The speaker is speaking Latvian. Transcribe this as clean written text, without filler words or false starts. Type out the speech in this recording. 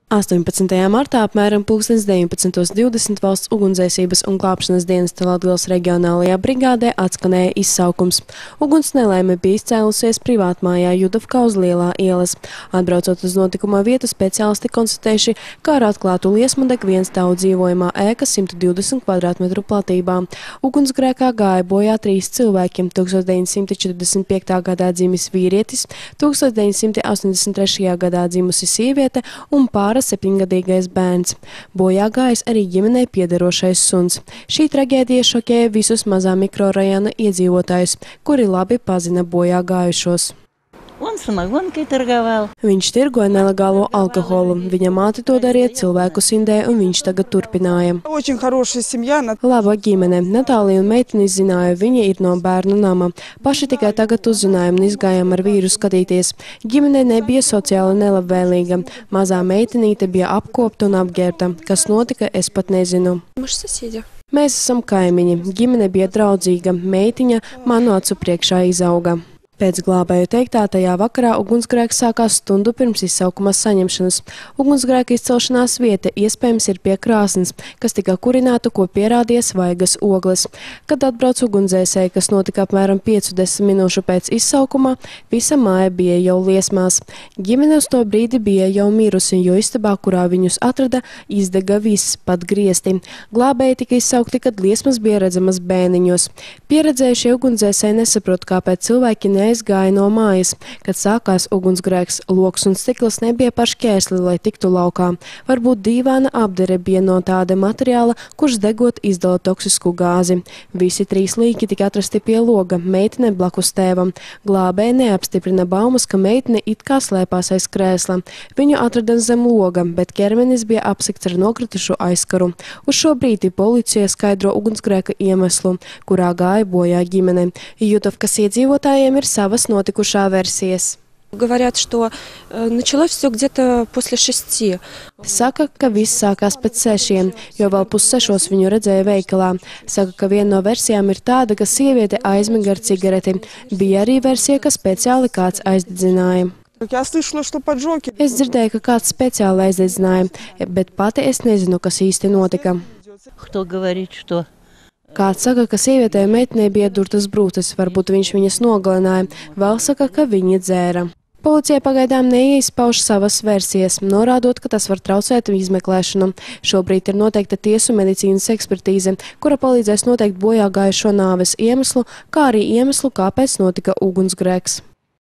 18. martā apmēram 19:20 valsts ugunsdzēsības un glābšanas dienesta Latgales reģionālajā brigādē atskanēja izsaukums. Uguns nelaime bija izcēlusies privātmājā Judovkā uz Lielā ielas. Atbraucot uz notikuma vietu, speciālisti konstatējuši, kā ar atklātu liesmu deg viens stāvu dzīvojamā ēka 120 kvadrātmetru platībā. Ugunsgrēkā gāja bojā 3 cilvēki - 1945. gadā dzimis vīrietis, 1983. gadā dzimusi sieviete un pāris 7-gadīgais bērns. Bojā gājis arī ģimenei piederošais suns. Šī traģēdija šokēja visus mazā mikrorajona iedzīvotājus, kuri labi pazina bojā gājušos. Viņš tirgoja nelegālo alkoholu. Viņa māte to darīja cilvēku sindē, un viņš tagad turpināja. Laba ģimene. Natālija un meitenis zināja, viņa ir no bērnu nama. Paši tikai tagad uzzinājām un izgājām ar vīru skatīties. Ģimene nebija sociāli nelabvēlīga. Mazā meitenīte bija apkopta un apģērbta. Kas notika, es pat nezinu. Mēs esam kaimiņi. Ģimene bija draudzīga. Meitiņa manu acu priekšā izauga. Pēc glābēju teiktā, tajā vakarā ugunsgrēks sākās stundu pirms izsaukuma saņemšanas. Ugunsgrēka izcelšanās vieta iespējams ir pie krāsnes, kas tika kurināta, ko pierādīja svaigas ogles. Kad atbrauc ugunsdzēsēji, kas notika apmēram 5–10 minūšu pēc izsaukuma, visa māja bija jau liesmās. Ģimene uz to brīdi bija jau mirusi, jo istabā, kurā viņus atrada, izdega viss, pat griesti. Glābēji tika izsaukti, kad liesmas bija redzamas bēniņos. Pieredzējušie ugunsdzēsēji nesaprot, kāpēc cilvēki aizgāja no mājas. Kad sākās ugunsgrēks, loks un stikls nebija par šķēsli, lai tiktu laukā. Varbūt dīvaina apdere bija no tāda materiāla, kurš degot izdala toksisku gāzi. Visi 3 līki tika atrasti pie loga, meitene blakus tēvam. Glābēji neapstiprina baumas, ka meitene it kā slēpās aiz krēsla. Viņu atrada zem loga, bet ķermenis bija apsekts ar nokritušu aizkaru. Uz šo brīdi policija skaidro ugunsgrēka iemeslu, kurā gāja bojā ģimene. Judovkas iedzīvotājiem ir savas notikušā versijas. Saka, ka viss sākās pēc 6, jo vēl 5:30 viņu redzēja veikalā. Saka, ka viena no versijām ir tāda, ka sieviete aizmiga ar cigareti. Bija arī versija, ka speciāli kāds aizdedzināja. Es dzirdēju, ka kāds speciāli aizdedzināja, bet pati es nezinu, kas īsti notika. Kāds saka, ka sievietei un meitenei bija durtas brūces, varbūt viņš viņas nogalināja, vēl saka, ka viņi dzēra. Policija pagaidām neizpauž savas versijas, norādot, ka tas var traucēt izmeklēšanu. Šobrīd ir noteikta tiesu medicīnas ekspertīze, kura palīdzēs noteikt bojā gājušo nāves iemeslu, kā arī iemeslu, kāpēc notika ugunsgrēks.